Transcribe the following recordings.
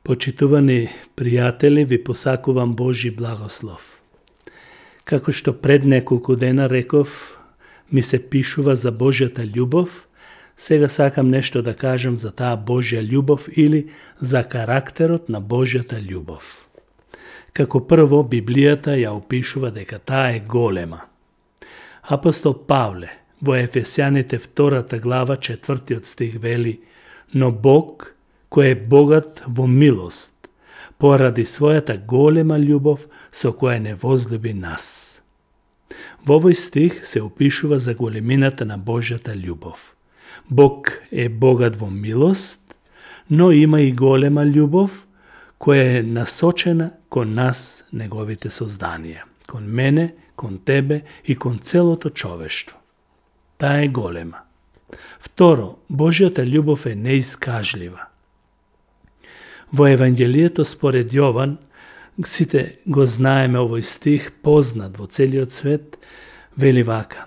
Почитувани пријатели, ви посакувам Божи благослов. Како што пред неколку дена реков, ми се пишува за Божјата љубов, сега сакам нешто да кажам за таа Божја љубов или за карактерот на Божјата љубов. Како прво, Библијата ја опишува дека таа е голема. Апостол Павле во Ефесјаните 2 глава 4 стих вели: но Бог, кој е богат во милост, поради својата голема љубов со која не возлюби нас. Во овој стих се опишува за големината на Божјата љубов. Бог е богат во милост, но има и голема љубов која е насочена кон нас, неговите созданија, кон мене, кон тебе и кон целото човештво. Таа е голема. Второ, Божјата љубов е неискажлива. Во Евангелието според Јован, сите го знаеме овој стих, познат во целиот свет, вели вака: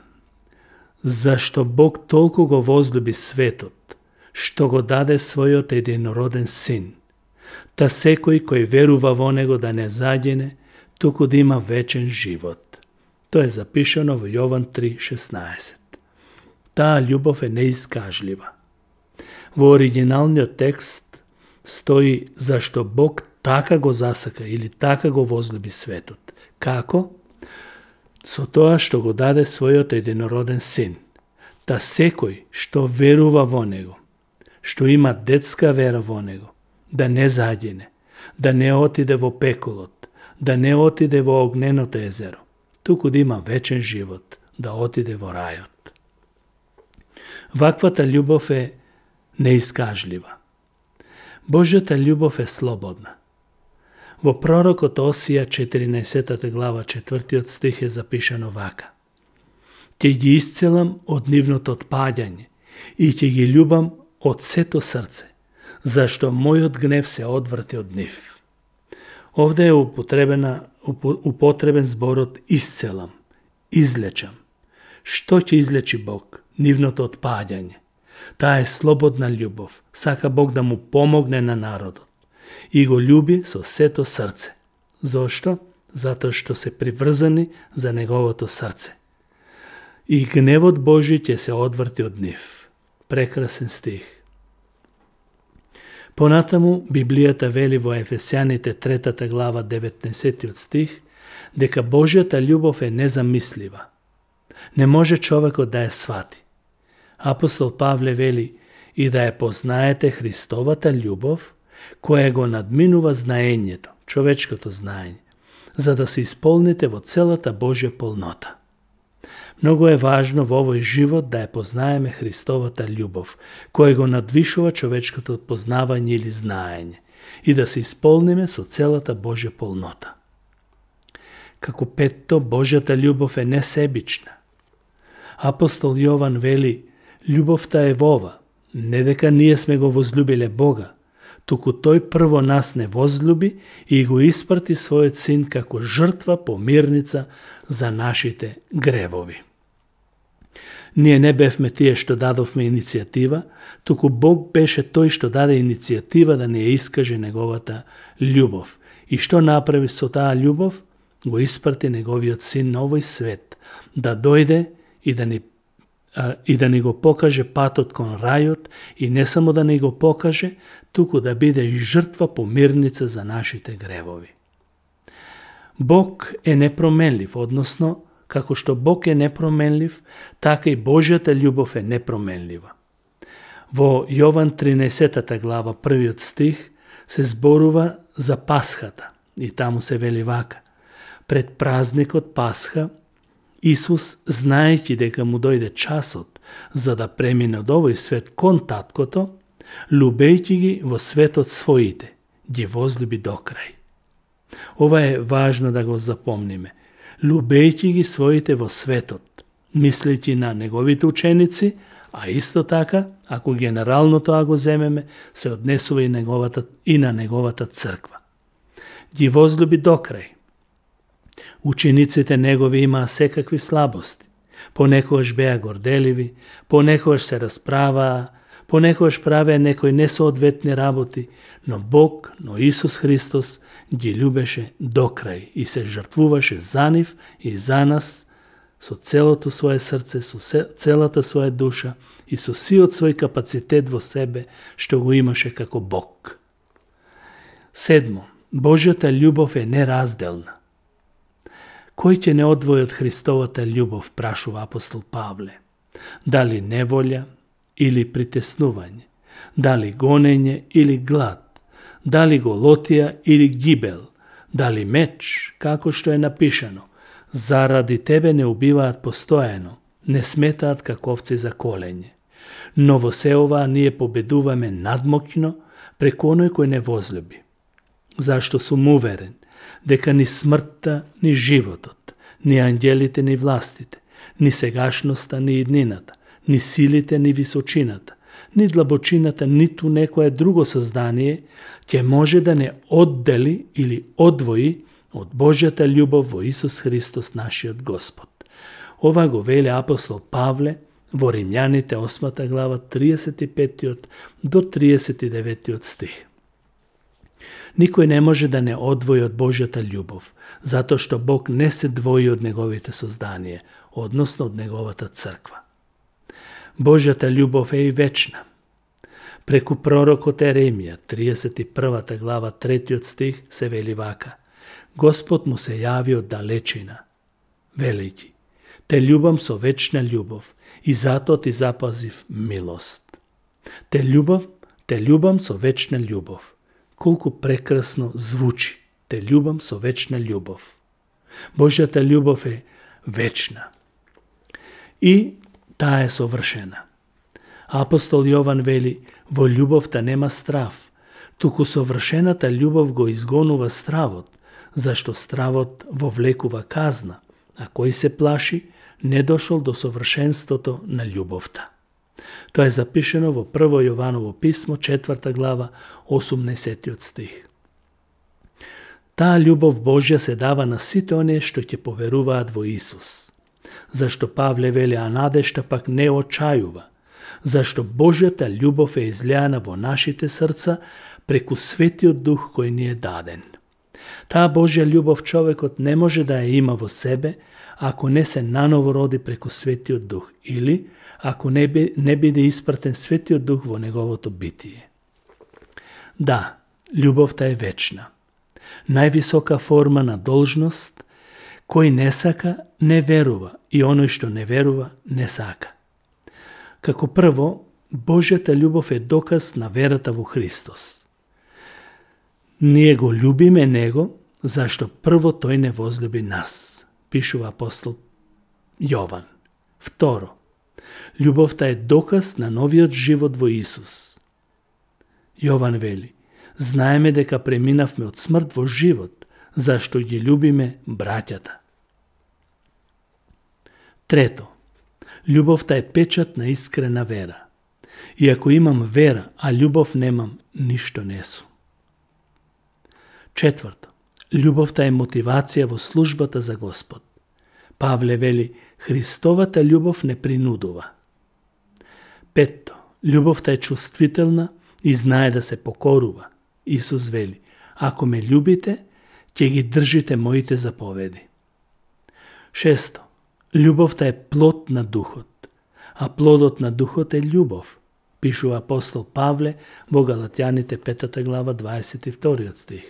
зашто Бог толку го возлюби светот, што го даде својот единороден син, та секој кој верува во него да не загине, туку да има вечен живот. Тоа е запишано во Јован 3:16. Таа љубов е неискажлива. Во оригиналниот текст стои зашто Бог така го засака или така го возлюби светот. Како? Со тоа што го даде својот единороден син. Та секој што верува во него, што има детска вера во него, да не загине, да не отиде во пеколот, да не отиде во огненото езеро, туку да има вечен живот, да отиде во рајот. Ваквата љубов е неискажлива. Божјата љубов е слободна. Во пророкот Осија 14 глава 4 стих е запишано вака: ќе ги исцелам од нивното отпаѓање и ќе ги љубам од сето срце, зашто мојот гнев се одврти од нив. Овде е употребен зборот исцелам, излечам. Што ќе излечи Бог? Нивното отпаѓање. Таа е слободна љубов. Сака Бог да му помогне на народот. И го љуби со сето срце. Зошто? Затоа што се приврзани за неговото срце. И гневот Божи ќе се одврти од нив. Прекрасен стих. Понатаму Библијата вели во Ефесјаните 3 глава 19 стих дека Божјата љубов е незамислива. Не може човекот да ја свати. Апостол Павле вели: и да ја познаете Христовата љубов, која го надминува знаењето, човечкото знаење, за да се исполните во целата Божја полнота. Многу е важно во овој живот да ја познаеме Христовата љубов, која го надвишува човечкото познавање или знаење, и да се исполниме со целата Божја полнота. Како петто, Божјата љубов е несебична. Апостол Јован вели: љубовта е во ова, не дека ние сме го возлюбиле Бога, туку тој прво нас не возлюби и го испрати својот син како жртва помирница за нашите гревови. Ние не бевме тие што дадовме иницијатива, туку Бог беше тој што даде иницијатива да ни ја искаже неговата љубов. И што направи со таа љубов? Го испрати неговиот син на овој свет, да дојде и да ни го покаже патот кон рајот, и не само да ни го покаже, туку да биде и жртва помирница за нашите гревови. Бог е непроменлив, односно, како што Бог е непроменлив, така и Божјата љубов е непроменлива. Во Јован 13 глава 1 стих се зборува за Пасхата и таму се вели вака: пред празникот Пасха, Исус, знаејќи дека му дојде часот за да премине од овој свет кон таткото, любејќи ги во светот своите, ги возлюби до крај. Ова е важно да го запомниме. Любејќи ги своите во светот, мислејќи на неговите ученици, а исто така, ако генерално тоа го земеме, се однесува и на неговата црква. Ги возлюби до крај. Учениците негови имаа секакви слабости. Понекогаш беа горделиви, понекогаш се расправаа, Понекогаш правеа некои несоодветни работи, но Бог, но Исус Христос ги љубеше до крај и се жртвуваше за нив и за нас со целото свое срце, со целата своја душа и со сиот свој капацитет во себе што го имаше како Бог. 7. Божјата љубов е неразделна. Кој ќе не одвои од Христовата љубов, прашува апостол Павле? Дали неволја или притеснување? Дали гонење или глад? Дали голотија или гибел? Дали меч, како што е напишано? Заради тебе не убиваат постојано, не сметаат како овци за колење. Но во се ова ние победуваме надмокно преку оној кој не возлюби. Зашто сум уверен дека ни смртта, ни животот, ни ангелите, ни властите, ни сегашноста, ни иднината, ни силите, ни височината, ни длабочината, ниту некое друго создание ќе може да не оддели или одвои од Божјата љубов во Исус Христос нашиот Господ. Ова го вели апостол Павле во Римјаните 8 глава 35 до 39 стих. Никој не може да не одвои од Божјата љубов, затоа што Бог не се двои од неговите созданија, односно од неговата црква. Божјата љубов е и вечна. Преку пророкот Еремија, 31 глава 3 стих се вели вака: Господ му се јави од далечина, велејќи: Те љубам со вечна љубов и затоа ти запазив милост. Те љубам со вечна љубов. Колку прекрасно звучи. Те љубам со вечна љубов. Божјата љубов е вечна. И таа е совршена. Апостол Јован вели: во љубовта нема страв, туку совршената љубов го изгонува стравот, зашто стравот вовлекува казна, а кој се плаши, не дошол до совршенството на љубовта. Тоа е запишено во 1 Јованово писмо, 4 глава, 18 стих. Таа љубов Божја се дава на сите оние што ќе поверуваат во Исус. Зашто Павле вели: а надежта пак не очајува, зашто Божјата љубов е излеана во нашите срца преку Светиот Дух кој ни е даден. Таа Божја љубов човекот не може да ја има во себе ако не се наново роди преку Светиот Дух или ако не биде испратен Светиот Дух во неговото битие. Да, љубовта е вечна. Највисока форма на должност, кој не сака, не верува и оној што не верува, не сака. Како прво, Божјата љубов е доказ на верата во Христос. Ние го љубиме Него, зашто прво Тој не возлюби нас, пишува апостол Јован. Второ, љубовта е доказ на новиот живот во Исус. Јован вели: знаеме дека преминавме од смрт во живот, зашто ги љубиме браќата. Трето, љубовта е печат на искрена вера. И ако имам вера, а љубов немам, ништо не сум. Четврто, љубовта е мотивација во службата за Господ. Павле вели: Христовата љубов не принудува. Петто, љубовта е чувствителна и знае да се покорува. Исус вели: ако ме љубите, ќе ги држите моите заповеди. Шесто, љубовта е плод на Духот, а плодот на Духот е љубов, пишува апостол Павле во Галатјаните 5 глава 22 стих.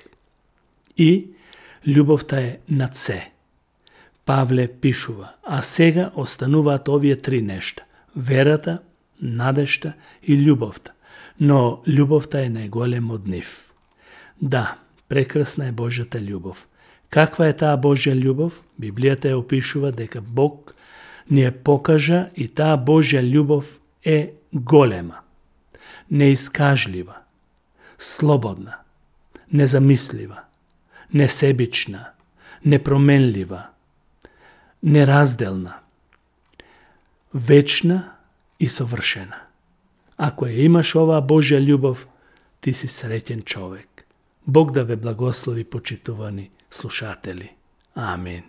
И љубовта е над се. Павле пишува: а сега остануваат овие три нешта: верата, надежта и љубовта, но љубовта е најголем од нив. Да, прекрасна е Божјата љубов. Каква е таа Божја љубов? Библијата ја опишува дека Бог ни ја покажа и таа Божја љубов е голема, неискажлива, слободна, незамислива, несебична, непроменлива, неразделна, вечна и совршена. Ако ја имаш оваа Божја љубов, ти си среќен човек. Бог да ве благослови, почитувани слушатели. Амин.